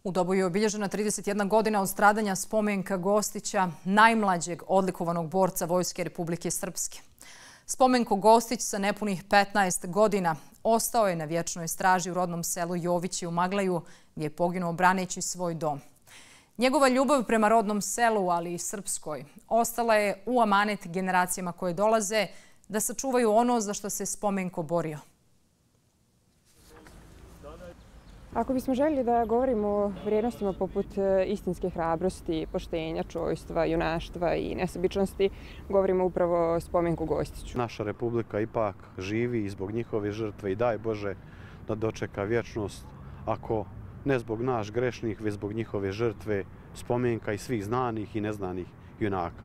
U Doboju je obilježena 31 godina od stradanja spomenka Gostića, najmlađeg odlikovanog borca Vojske Republike Srpske. Spomenko Gostić sa nepunih 15 godina ostao je na vječnoj straži u rodnom selu Jovići u Maglaju, gdje je poginuo braneći svoj dom. Njegova ljubav prema rodnom selu, ali i srpskoj, ostala je u amanet generacijama koje dolaze da sačuvaju ono za što se Spomenko borio. Ako bismo željeli da govorimo o vrijednostima poput istinske hrabrosti, poštenja, čojstva, junaštva i nesebičnosti, govorimo upravo o Spomenku Gostiću. Naša republika ipak živi i zbog njihove žrtve i daj Bože da dočeka vječnost, ako ne zbog nas grešnih, već zbog njihove žrtve, spomenka i svih znanih i neznanih junaka.